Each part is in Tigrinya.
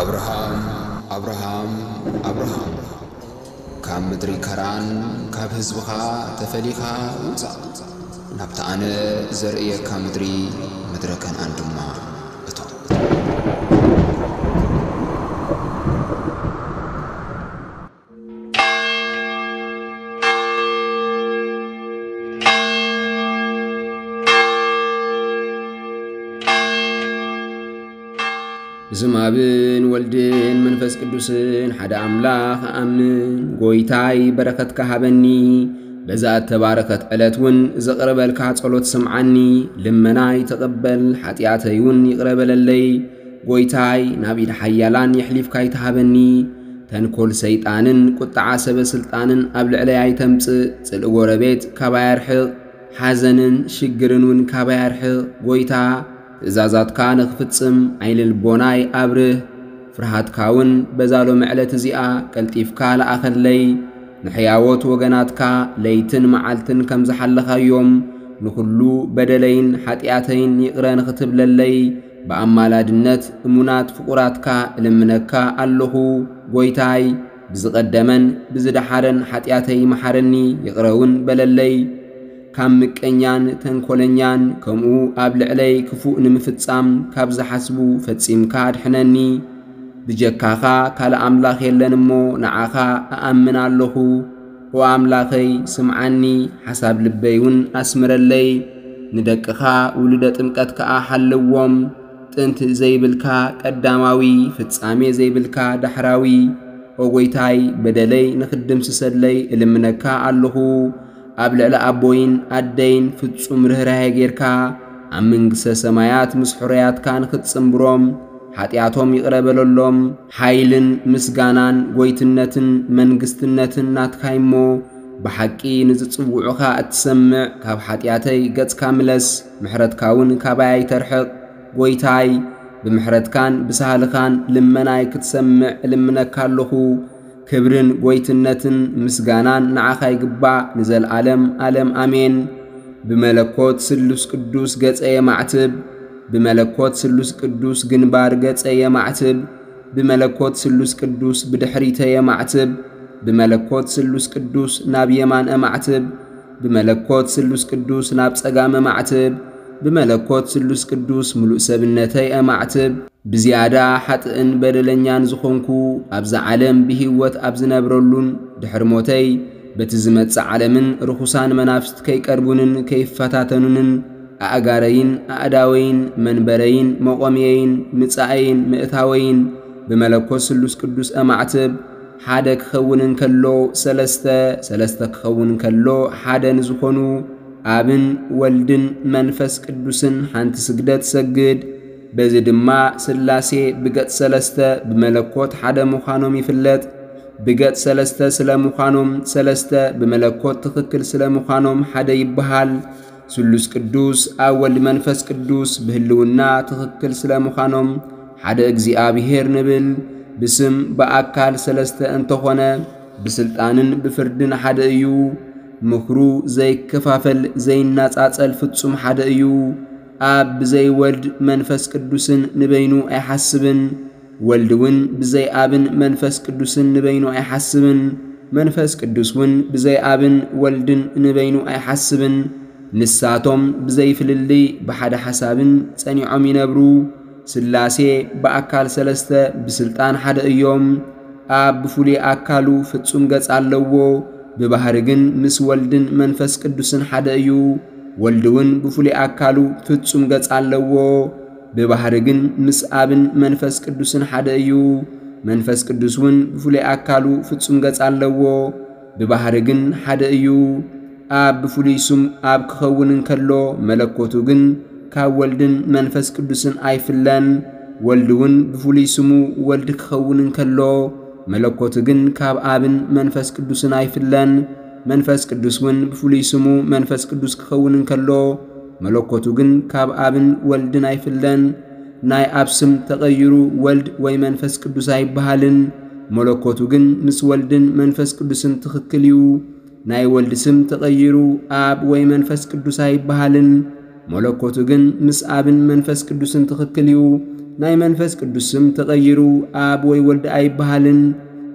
ኣብርሃም፣ ኣብርሃም፣ ኣብርሃም፣ ካብ ምድሪ ከራን፣ ካብ ህዝብኻ ተፈሊኻ ውጻእ፣ ናብታ ኣነ ዘርእየካ ምድሪ፣ ምድረ ከነኣን ድማ እቶ። ብስም ኣብን ወልድን መንፈስ ቅዱስን ሓደ ኣምላኽ እኣምን። ጎይታይ በረኸትካ ሃበኒ። በዛ እተባረኸት ዕለት እውን ዘቕርበልካ ጸሎት ስምዓኒ። ልመናይ ተቐበል፣ ሓጢኣተይ እውን ይቕረ በለለይ። ጎይታይ ናብ ኢድ ሓያላን የሕሊፍካ ኣይትሃበኒ። ተንኮል ሰይጣንን ቁጥዓ ሰበ ስልጣንን ኣብ ልዕለይ ኣይተምጽእ። ጽልኢ ጎረቤት ካባይ ኣርሕቕ። ሓዘንን ሽግርን እውን ካባይ ኣርሕቕ። ጎይታ ትእዛዛትካ ንኽፍጽም ዓይኒ ልቦናይ ኣብርህ። ፍርሃትካ እውን በዛ ሎሚ ዕለት እዚኣ ቀልጢፍካ ለኣኸለይ። ንሕያዎት ወገናትካ ለይትን መዓልትን ከም ዝሓለኻዮም፣ ንኹሉ በደለይን ሓጢኣተይን ይቕረ ንኽትብለለይ፣ ብኣማላድነት እሙናት ፍቑራትካ እልምነካ ኣለኹ። ጎይታይ፣ ብዝቐደመን ብዝደሓረን ሓጢኣተይ መሓረኒ፣ ይቕረ እውን በለለይ። ካብ ምቀኛን ተንኮለኛን፣ ከምኡ ኣብ ልዕለይ ክፉእ ንምፍጻም ካብ ዝሓስቡ ፈጺምካ ኣድሕነኒ። ብጀካኻ ካልእ ኣምላኽ የለን እሞ፣ ንዓኻ እኣምን ኣለኹ። ኦ ኣምላኸይ፣ ስምዓኒ፣ ሓሳብ ልበይ እውን ኣስምረለይ። ንደቅኻ ውሉደ ጥምቀት ከኣ ሓልዎም። ጥንቲ ዘይብልካ፣ ቀዳማዊ፣ ፍጻሜ ዘይብልካ፣ ዳሕራዊ። ኦ ጐይታይ፣ በደለይ ንኽትድምስሰለይ እልምነካ ኣለኹ። ኣብ ልዕሊ ኣቦይን ኣደይን ፍጹም ርህራሄ ጌርካ፣ ኣብ መንግስተ ሰማያት ምስ ሕሩያትካ ንኽትጽንብሮም፣ ሓጢኣቶም ይቕረ በለሎም። ሓይልን ምስጋናን ጐይትነትን መንግስትነትን ናትካ እሞ፣ ብሓቂ ንዝጽውዑኻ እትሰምዕ፣ ካብ ሓጢኣተይ ገጽካ ምለስ፣ ምሕረትካ እውን ካባይ ኣይተርሕቕ። ጐይታይ፣ ብምሕረትካን ብሳህልኻን ልመናይ ክትሰምዕ እልምነካ ኣለኹ። ክብርን ጐይትነትን ምስጋናን ንዓኻ ይግባእ፣ ንዘለኣለም ኣለም ኣሜን። ብመለኮት ስሉስ ቅዱስ ገጸ የማዕትብ፣ ብመለኮት ስሉስ ቅዱስ ግንባር ገጸ የማዕትብ፣ ብመለኮት ስሉስ ቅዱስ ብድሕሪተ የማዕትብ፣ ብመለኮት ስሉስ ቅዱስ ናብ የማን እማዕትብ፣ ብመለኮት ስሉስ ቅዱስ ናብ ጸጋም እማዕትብ፣ ብመለኮት ስሉስ ቅዱስ ምሉእ ሰብነተይ እማዕትብ። ብዝያዳ ሓጥእን በደለኛን ዝኾንኩ፣ ኣብዛ ዓለም ብህይወት ኣብ ዝነብረሉን ድሕሪ ሞተይ በቲ ዝመጽእ ዓለምን ርኹሳን መናፍስት ከይቀርቡንን ከይፈታተኑንን፣ ኣእጋረይን ኣእዳወይን መንበረይን መቖምየይን ምጻኣይን ምእታወይን ብመለኮት ስሉስ ቅዱስ እማዕትብ። ሓደ ክኸውን እንከሎ ሰለስተ፣ ሰለስተ ክኸውን እንከሎ ሓደ ንዝኾኑ ኣብን ወልድን መንፈስ ቅዱስን ሓንቲ ስግደት ሰግድ። በዚ ድማ ስላሴ ብገጽ ሰለስተ ብመለኮት ሓደ ምዃኖም ይፍለጥ። ብገጽ ሰለስተ ስለ ምዃኖም ሰለስተ፣ ብመለኮት ትኽክል ስለ ምዃኖም ሓደ ይበሃል። ስሉስ ቅዱስ ኣብ ወልድ መንፈስ ቅዱስ ብህልውና ትኽክል ስለ ምዃኖም ሓደ እግዚኣብሔር ንብል። ብስም ብኣካል ሰለስተ እንተኾነ፣ ብስልጣንን ብፍርድን ሓደ እዩ። ምኽሩ ዘይከፋፈል ዘይናጻጸል ፍጹም ሓደ እዩ። ኣብ ብዘይ ወልድ መንፈስ ቅዱስን ንበይኑ ኣይሓስብን። ወልድ እውን ብዘይ ኣብን መንፈስ ቅዱስን ንበይኑ ኣይሓስብን። መንፈስ ቅዱስ እውን ብዘይ ኣብን ወልድን ንበይኑ ኣይሓስብን። ንሳቶም ብዘይ ፍልልይ ብሓደ ሓሳብን ጸኒዖም ይነብሩ። ስላሴ ብኣካል ሰለስተ ብስልጣን ሓደ እዮም። ኣብ ብፍሉይ ኣካሉ ፍጹም ገጽ ኣለዎ፣ ብባህሪ ግን ምስ ወልድን መንፈስ ቅዱስን ሓደ እዩ። ወልድ እውን ብፍሉይ ኣካሉ ፍጹም ገጽ ኣለዎ፣ ብባህሪ ግን ምስ ኣብን መንፈስ ቅዱስን ሓደ እዩ። መንፈስ ቅዱስ እውን ብፍሉይ ኣካሉ ፍጹም ገጽ ኣለዎ፣ ብባህሪ ግን ሓደ እዩ። ኣብ ብፍሉይ ስም ኣብ ክኸውን እንከሎ፣ መለኮቱ ግን ካብ ወልድን መንፈስ ቅዱስን ኣይፍለን። ወልድ እውን ብፍሉይ ስሙ ወልድ ክኸውን እንከሎ፣ መለኮቱ ግን ካብ ኣብን መንፈስ ቅዱስን ኣይፍለን። መንፈስ ቅዱስ እውን ብፍሉይ ስሙ መንፈስ ቅዱስ ክኸውን እንከሎ፣ መለኮቱ ግን ካብ ኣብን ወልድን ኣይፍለን። ናይ ኣብ ስም ተቐይሩ ወልድ ወይ መንፈስ ቅዱስ ኣይበሃልን። መለኮቱ ግን ምስ ወልድን መንፈስ ቅዱስን ትኽክል እዩ። ናይ ወልድ ስም ተቐይሩ ኣብ ወይ መንፈስ ቅዱስ ኣይበሃልን። መለኮቱ ግን ምስ ኣብን መንፈስ ቅዱስን ትኽክል እዩ። ናይ መንፈስ ቅዱስ ስም ተቐይሩ ኣብ ወይ ወልድ ኣይበሃልን።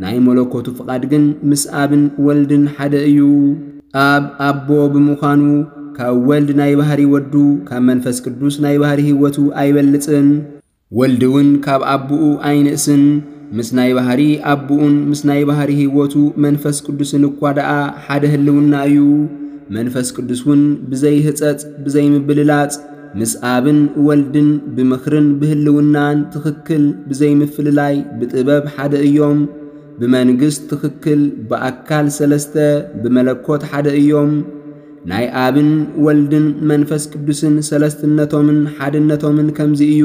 ናይ መለኮቱ ፍቓድ ግን ምስ ኣብን ወልድን ሓደ እዩ። ኣብ ኣቦ ብምዃኑ ካብ ወልድ ናይ ባህሪ ወዱ፣ ካብ መንፈስ ቅዱስ ናይ ባህሪ ህይወቱ ኣይበልጽን። ወልድ እውን ካብ ኣቦኡ ኣይንእስን። ምስ ናይ ባህሪ ኣቦኡን ምስ ናይ ባህሪ ህይወቱ መንፈስ ቅዱስን እኳ ደኣ ሓደ ህልውና እዩ። መንፈስ ቅዱስ እውን ብዘይ ህጸጽ፣ ብዘይ ምብልላጽ፣ ምስ ኣብን ወልድን ብምኽርን ብህልውናን ትኽክል ብዘይ ምፍልላይ ብጥበብ ሓደ እዮም። ብመንግስት ትኽክል ብኣካል ሰለስተ ብመለኮት ሓደ እዮም። ናይ ኣብን ወልድን መንፈስ ቅዱስን ሰለስትነቶምን ሓድነቶምን ከምዚ እዩ።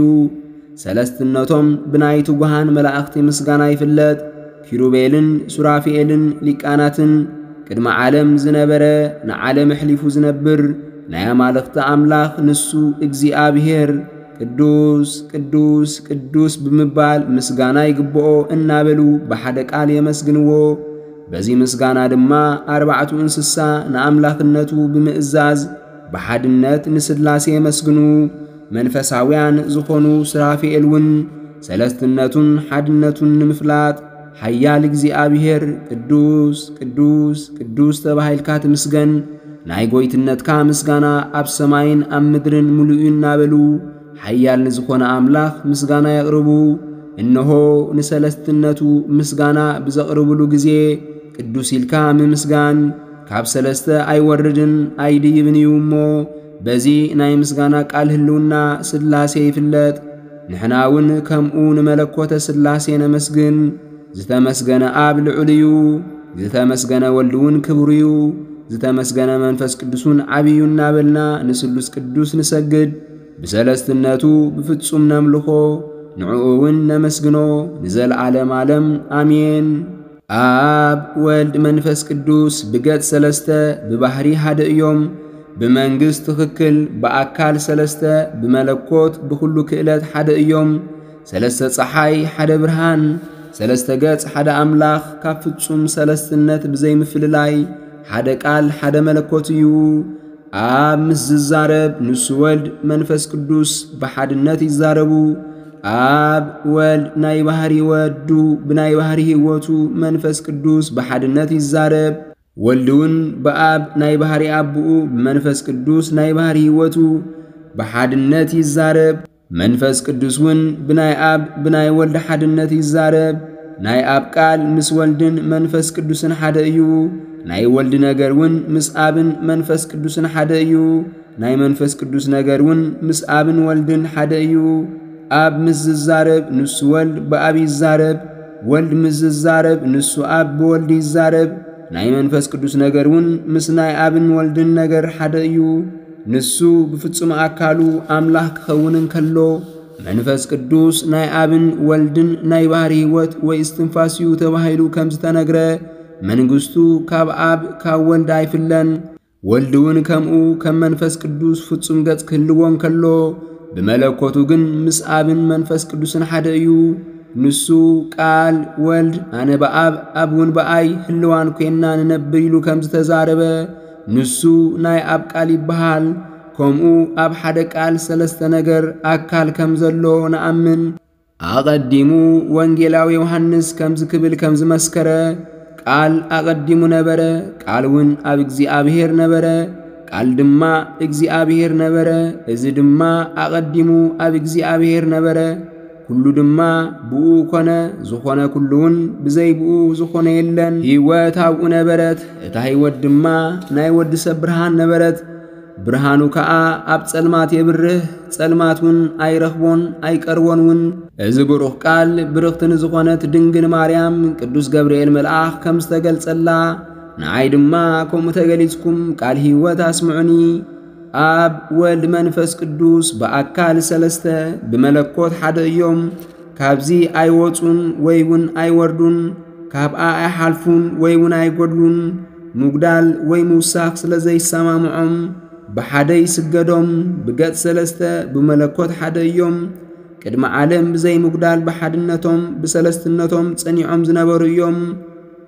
ሰለስትነቶም ብናይ ትጉሃን መላእኽቲ ምስጋና ይፍለጥ። ኪሩቤልን ሱራፊኤልን ሊቃናትን ቅድሚ ዓለም ዝነበረ ንዓለም ኣሕሊፉ ዝነብር ናይ ኣማልኽቲ ኣምላኽ ንሱ እግዚኣብሔር ቅዱስ ቅዱስ ቅዱስ ብምባል ምስጋና ይግብኦ እናበሉ ብሓደ ቃል የመስግንዎ። በዚ ምስጋና ድማ ኣርባዕቱ እንስሳ ንኣምላኽነቱ ብምእዛዝ ብሓድነት ንስላሴ የመስግኑ። መንፈሳውያን ዝኾኑ ሱራፊኤል እውን ሰለስትነቱን ሓድነቱን ንምፍላጥ ሓያል እግዚኣብሔር ቅዱስ ቅዱስ ቅዱስ ተባሂልካ ትምስገን፣ ናይ ጎይትነትካ ምስጋና ኣብ ሰማይን ኣብ ምድርን ምሉእ እዩ እናበሉ ሓያል ንዝኾነ ኣምላኽ ምስጋና የቕርቡ። እነሆ ንሰለስትነቱ ምስጋና ብዘቕርብሉ ግዜ ቅዱስ ኢልካ ምምስጋን ካብ ሰለስተ ኣይወርድን ኣይድይብን እዩ እሞ በዚ ናይ ምስጋና ቃል ህልውና ስላሴ ይፍለጥ። ንሕና እውን ከምኡ ንመለኮተ ስላሴ ነመስግን። ዝተመስገነ ኣብ ልዑል እዩ። ዝተመስገነ ወልድ እውን ክብሩ እዩ። ዝተመስገነ መንፈስ ቅዱስ እውን ዓብዩ እናበልና ንስሉስ ቅዱስ ንሰግድ። ብሰለስትነቱ ብፍጹም ነምልኾ። ንዕኡ እውን ነመስግኖ ንዘለዓለም ዓለም ኣሜን። ኣብ ወልድ መንፈስ ቅዱስ ብገጽ ሰለስተ ብባህሪ ሓደ እዮም። ብመንግስት ትኽክል ብኣካል ሰለስተ ብመለኮት ብኹሉ ክእለት ሓደ እዮም። ሰለስተ ጸሓይ ሓደ ብርሃን ሰለስተ ገጽ ሓደ ኣምላኽ ካብ ፍጹም ሰለስትነት ብዘይምፍልላይ ሓደ ቃል ሓደ መለኮት እዩ። ኣብ ምስ ዝዛረብ ንሱ ወልድ መንፈስ ቅዱስ ብሓድነት ይዛረቡ። ኣብ ወልድ ናይ ባህሪ ወዱ ብናይ ባህሪ ህይወቱ መንፈስ ቅዱስ ብሓድነት ይዛረብ። ወልድ እውን ብኣብ ናይ ባህሪ ኣቦኡ ብመንፈስ ቅዱስ ናይ ባህሪ ህይወቱ ብሓድነት ይዛረብ። መንፈስ ቅዱስ እውን ብናይ ኣብ ብናይ ወልድ ሓድነት ይዛረብ። ናይ ኣብ ቃል ምስ ወልድን መንፈስ ቅዱስን ሓደ እዩ። ናይ ወልድ ነገር እውን ምስ ኣብን መንፈስ ቅዱስን ሓደ እዩ። ናይ መንፈስ ቅዱስ ነገር እውን ምስ ኣብን ወልድን ሓደ እዩ። ኣብ ምስ ዝዛረብ ንሱ ወልድ ብኣብ ይዛረብ። ወልድ ምስ ዝዛረብ ንሱ ኣብ ብወልድ ይዛረብ። ናይ መንፈስ ቅዱስ ነገር እውን ምስ ናይ ኣብን ወልድን ነገር ሓደ እዩ። ንሱ ብፍጹም ኣካሉ ኣምላኽ ክኸውን እንከሎ መንፈስ ቅዱስ ናይ ኣብን ወልድን ናይ ባህሪ ህይወት ወይ እስትንፋስ እዩ ተባሂሉ ከም ዝተነግረ መንግስቱ ካብ ኣብ ካብ ወልድ ኣይፍለን። ወልድ እውን ከምኡ ከም መንፈስ ቅዱስ ፍጹም ገጽ ክህልዎ እንከሎ ብመለኮቱ ግን ምስ ኣብን መንፈስ ቅዱስን ሓደ እዩ። ንሱ ቃል ወልድ ኣነ ብኣብ ኣብ እውን ብኣይ ህልዋን ኮይና ንነብር ኢሉ ከም ዝተዛረበ ንሱ ናይ ኣብ ቃል ይበሃል። ከምኡ ኣብ ሓደ ቃል ሰለስተ ነገር ኣካል ከም ዘሎ ንኣምን። ኣቐዲሙ ወንጌላዊ ዮሃንስ ከምዚ ክብል ከም ዝመስከረ ቃል ኣቐዲሙ ነበረ፣ ቃል እውን ኣብ እግዚኣብሔር ነበረ፣ ቃል ድማ እግዚኣብሔር ነበረ። እዚ ድማ ኣቐዲሙ ኣብ እግዚኣብሔር ነበረ። ኩሉ ድማ ብኡ ኮነ፣ ዝኾነ ኩሉ እውን ብዘይ ብኡ ዝኾነ የለን። ህይወት ኣብኡ ነበረት፣ እታ ህይወት ድማ ናይ ወዲ ሰብ ብርሃን ነበረት። ብርሃኑ ከኣ ኣብ ጸልማት የብርህ፣ ጸልማት እውን ኣይረኽቦን ኣይቀርቦን እውን። እዚ ብሩኽ ቃል ብርኽቲ ንዝኾነት ድንግል ማርያም ቅዱስ ገብርኤል መልኣኽ ከም ዝተገልጸላ ንዓይ ድማ ከምኡ ተገሊጽኩም ቃል ህይወት ኣስምዑኒ። ኣብ ወልድ መንፈስ ቅዱስ ብኣካል ሰለስተ ብመለኮት ሓደ እዮም። ካብዚ ኣይወጹን ወይ እውን ኣይወርዱን፣ ካብኣ ኣይሓልፉን ወይ እውን ኣይጎድሉን። ምጉዳል ወይ ምውሳኽ ስለ ዘይሰማምዖም ብሓደ ይስገዶም። ብገጽ ሰለስተ ብመለኮት ሓደ እዮም። ቅድሚ ዓለም ብዘይ ምጉዳል ብሓድነቶም ብሰለስትነቶም ጸኒዖም ዝነበሩ እዮም።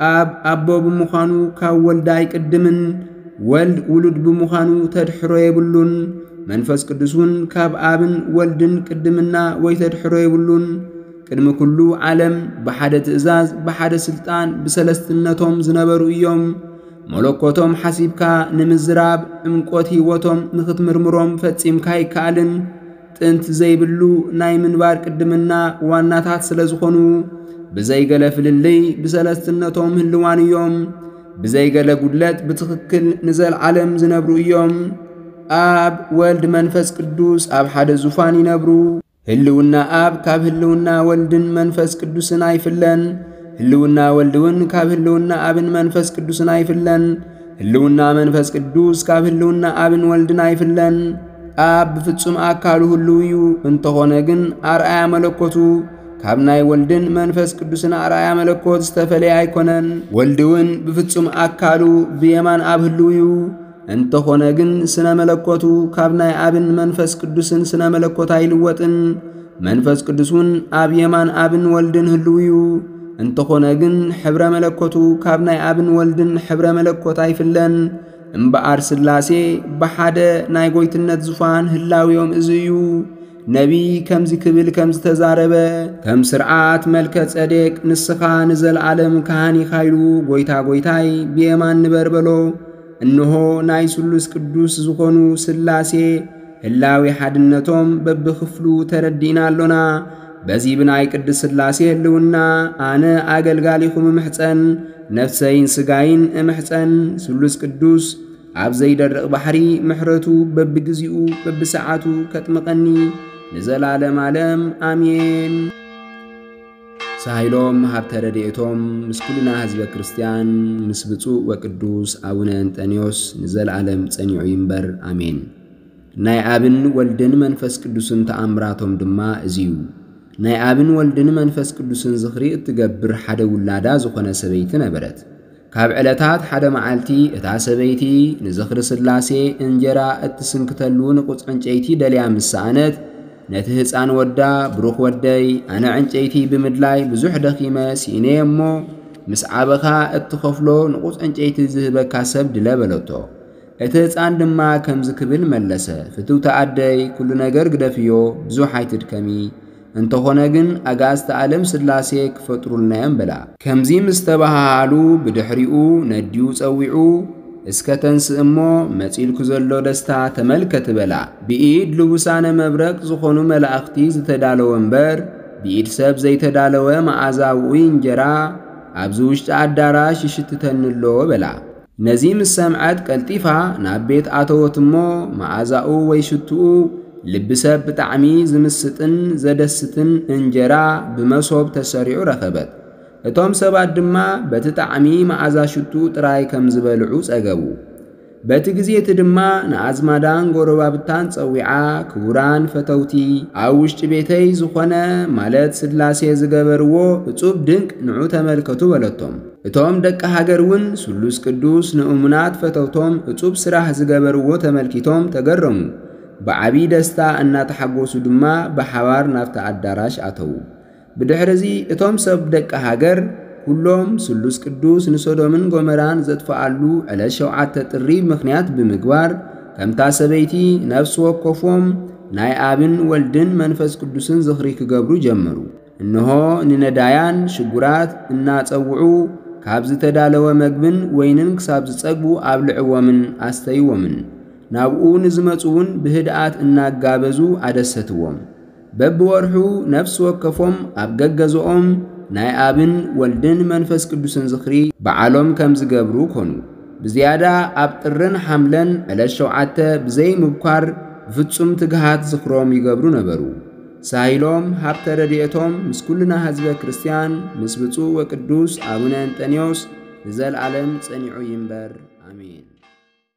ኣብ ኣቦ ብምዃኑ ካብ ወልድ ኣይቅድምን፣ ወልድ ውሉድ ብምዃኑ ተድሕሮ የብሉን። መንፈስ ቅዱስ እውን ካብ ኣብን ወልድን ቅድምና ወይ ተድሕሮ የብሉን። ቅድሚ ኩሉ ዓለም ብሓደ ትእዛዝ፣ ብሓደ ስልጣን፣ ብሰለስትነቶም ዝነበሩ እዮም። መለኮቶም ሓሲብካ ንምዝራብ ዕምቆት ህይወቶም ንኽትምርምሮም ፈጺምካ ኣይከኣልን። ጥንት ዘይብሉ ናይ ምንባር ቅድምና ዋናታት ስለ ዝኾኑ፣ ብዘይገለ ፍልልይ ብሰለስትነቶም ህልዋን እዮም። ብዘይገለ ጉድለት ብትኽክል ንዘለዓለም ዝነብሩ እዮም። ኣብ ወልድ መንፈስ ቅዱስ ኣብ ሓደ ዙፋን ይነብሩ። ህልውና ኣብ ካብ ህልውና ወልድን መንፈስ ቅዱስን ኣይፍለን። ህልውና ወልድ እውን ካብ ህልውና ኣብን መንፈስ ቅዱስን ኣይፍለን። ህልውና መንፈስ ቅዱስ ካብ ህልውና ኣብን ወልድን ኣይፍለን። ኣብ ብፍጹም ኣካሉ ህልው እዩ። እንተኾነ ግን ኣርኣያ መለኮቱ ካብ ናይ ወልድን መንፈስ ቅዱስን ኣርኣያ መለኮት ዝተፈለየ ኣይኮነን። ወልድ እውን ብፍጹም ኣካሉ ብየማን ኣብ ህልው እዩ። እንተኾነ ግን ስነ መለኮቱ ካብ ናይ ኣብን መንፈስ ቅዱስን ስነ መለኮት ኣይልወጥን። መንፈስ ቅዱስ እውን ኣብ የማን ኣብን ወልድን ህልው እዩ። እንተኾነ ግን ሕብረ መለኮቱ ካብ ናይ ኣብን ወልድን ሕብረ መለኮት ኣይፍለን። እምበኣር ስላሴ ብሓደ ናይ ጎይትነት ዙፋን ህላዊኦም እዚ እዩ። ነቢይ ከምዚ ክብል ከም ዝተዛረበ፣ ከም ስርዓት መልከ ጸዴቅ ንስኻ ንዘለዓለም ካህን ኢኻ ኢሉ፣ ጎይታ ጎይታይ ብየማን ንበር በሎ። እንሆ ናይ ስሉስ ቅዱስ ዝኾኑ ስላሴ ህላዊ ሓድነቶም በብኽፍሉ ተረዲእና ኣሎና። በዚ ብናይ ቅድስ ስላሴ ህልውና ኣነ ኣገልጋሊኹም እምሕጸን፣ ነፍሰይን ስጋይን እምሕጸን። ስሉስ ቅዱስ ኣብ ዘይደርቕ ባሕሪ ምሕረቱ በብግዚኡ በብሰዓቱ ከጥምቐኒ ንዘላለም ዓለም ኣሜን። ሳይሎም ሃብተ ረድኤቶም ምስ ኩልና ህዝበ ክርስቲያን ምስ ብፁዕ ወቅዱስ ኣቡነ እንጠንዮስ ንዘለዓለም ጸኒዑ ይንበር ኣሜን። ናይ ኣብን ወልድን መንፈስ ቅዱስን ተኣምራቶም ድማ እዚ እዩ። ናይ ኣብን ወልድን መንፈስ ቅዱስን ዝኽሪ እትገብር ሓደ ውላዳ ዝኾነ ሰበይቲ ነበረት። ካብ ዕለታት ሓደ መዓልቲ እታ ሰበይቲ ንዝኽሪ ስላሴ እንጀራ እትስንክተሉ ንቑጽ ዕንጨይቲ ደልያ ምስ ሰኣነት፣ ነቲ ህፃን ወዳ፣ ብሩኽ ወደይ፣ ኣነ ዕንጨይቲ ብምድላይ ብዙሕ ደኺመ ስኢነየ እሞ፣ ምስ ዓበኻ እትኸፍሎ ንቑጽ ዕንጨይቲ ዝህበካ ሰብ ድለ በለቶ። እቲ ህፃን ድማ ከምዚ ክብል መለሰ፣ ፍትውቲ ኣደይ፣ ኩሉ ነገር ግደፍዮ፣ ብዙሕ ኣይትድከሚ። እንተኾነ ግን ኣጋእዝተ ዓለም ስላሴ ክፈጥሩልና እዮም በላ። ከምዚ ምስ ተባሃሃሉ ብድሕሪኡ ነዲኡ ጸዊዑ፣ እስከ ተንስእ እሞ መጺልኩ ዘሎ ደስታ ተመልከቲ በላ። ብኢድ ልቡሳነ መብረቅ ዝኾኑ መላእኽቲ ዝተዳለወ እምበር ብኢድ ሰብ ዘይተዳለወ መዓዛ ውዑይ እንጀራ ኣብዚ ውሽጢ ኣዳራሽ ይሽትተኒ ኣሎ በላ። ነዚ ምስ ሰምዐት ቀልጢፋ ናብ ቤት ኣተወት እሞ መዓዛኡ ወይ ሽትኡ ልቢ ሰብ ብጣዕሚ ዝምስጥን ዘደስትን እንጀራ ብመሶብ ተሰሪዑ ረኸበት። እቶም ሰባት ድማ በቲ ጣዕሚ መዓዛ ሽትኡ ጥራይ ከም ዝበልዑ ጸገቡ። በቲ ግዜ እቲ ድማ ንኣዝማዳን ጎረባብታን ጸዊዓ፣ ክቡራን ፈተውቲ፣ ኣብ ውሽጢ ቤተይ ዝኾነ ማለት ስላሴ ዝገበርዎ እጹብ ድንቅ ንዑ ተመልከቱ በለቶም። እቶም ደቂ ሃገር እውን ስሉስ ቅዱስ ንእሙናት ፈተውቶም እጹብ ስራሕ ዝገበርዎ ተመልኪቶም ተገረሙ። ብዓቢ ደስታ እናተሓጎሱ ድማ ብሓባር ናብቲ ኣዳራሽ ኣተዉ። ብድሕርዚ እቶም ሰብ ደቂ ሃገር ኩሎም ስሉስ ቅዱስ ንሶዶምን ጎመራን ዘጥፍኣሉ ዕለት ሸውዓተ ጥሪ ምኽንያት ብምግባር ከምታ ሰበይቲ ነፍሲ ወከፎም ናይ ኣብን ወልድን መንፈስ ቅዱስን ዝኽሪ ክገብሩ ጀመሩ። እንሆ ንነዳያን ሽጉራት እናጸውዑ ካብ ዝተዳለወ መግብን ወይንን ክሳብ ዝጸግቡ ኣብልዕዎምን ኣስተይዎምን። ናብኡ ንዝመጹ እውን ብህድኣት እናጋበዙ ኣደሰትዎም። በብወርሑ ነፍሲ ወከፎም ኣብ ገገዝኦም ናይ ኣብን ወልድን መንፈስ ቅዱስን ዝኽሪ በዓሎም ከም ዝገብሩ ኮኑ። ብዝያዳ ኣብ ጥርን ሓምለን ዕለት ሸውዓተ ብዘይ ምብኳር ብፍጹም ትግሃት ዝኽሮም ይገብሩ ነበሩ። ሳይሎም ሃብተ ረድኤቶም ምስ ኩልና ህዝበ ክርስቲያን ምስ ብፁዕ ወቅዱስ ኣቡነ እንጠንዮስ ንዘለዓለም ጸኒዑ ይንበር። ኣሜን።